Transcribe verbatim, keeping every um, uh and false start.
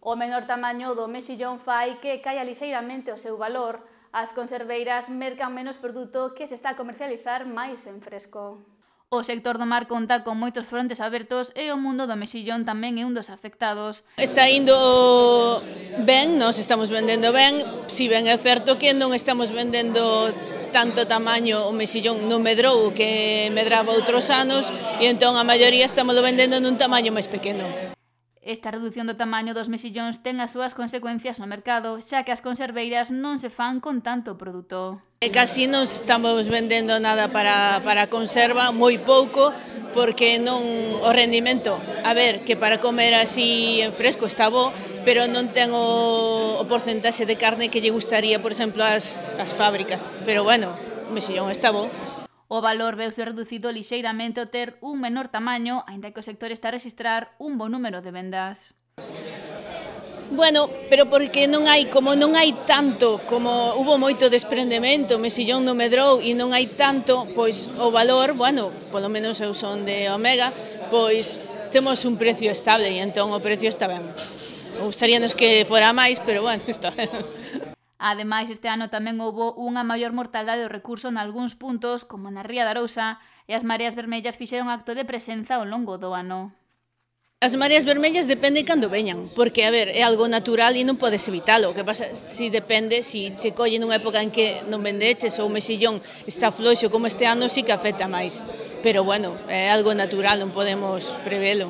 O menor tamaño do mexillón fai que caia lixeiramente o seu valor. As conserveiras mercan menos produto que se está a comercializar máis en fresco. O sector do mar conta con moitos frontes abertos e o mundo do mexillón tamén é un dos afectados. Está indo ben, nós estamos vendendo ben, si ben é certo que non estamos vendendo tanto tamaño o mexillón non medrou que medraba outros anos e entón a maioría estamos vendendo nun tamaño máis pequeno. Esta reducción do tamaño dos mexillóns ten as súas consecuencias no mercado, xa que as conserveiras non se fan con tanto produto. Casi non estamos vendendo nada para, para conserva, moi pouco, porque non o rendimento, a ver, que para comer así en fresco está bo, pero non ten o, o porcentaxe de carne que lle gustaría, por exemplo, as, as fábricas. Pero bueno, o mexillón está bo. O valor veuse reducido lixeiramente ao ter un menor tamaño, aínda que o sector está a rexistrar un bo número de vendas. Bueno, pero porque non hai, como non hai tanto, como hubo moito desprendemento, o mexillón non medrou e non hai tanto, pois o valor, bueno, polo menos eu son de Omega, pois temos un precio estable e entón o precio está ben. Gustaríanos que fora máis, pero bueno, está ben. Ademais, este ano tamén houbo unha maior mortaldade do recurso nalgúns puntos, como na Ría de Arousa, e as mareas vermellas fixeron acto de presenza ao longo do ano. As mareas vermellas depende cando veñan, porque, a ver, é algo natural e non podes evitalo. O que pasa, si depende, si se colle nunha época en que non vendeches ou o mexillón está floxo como este ano, sí que afecta máis. Pero, bueno, é algo natural, non podemos prevelo.